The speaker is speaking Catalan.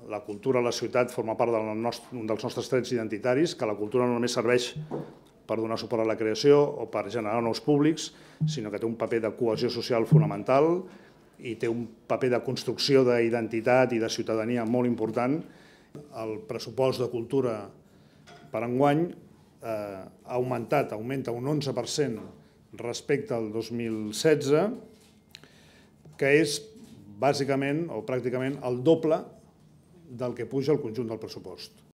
la cultura a la ciutat forma part d'un dels nostres trets identitaris, que la cultura no només serveix per donar suport a la creació o per generar nous públics, sinó que té un paper de cohesió social fonamental i té un paper de construcció d'identitat i de ciutadania molt important. El pressupost de cultura per enguany augmenta un 11% respecte al 2016, que és bàsicament o pràcticament el doble del que puja el conjunt del pressupost.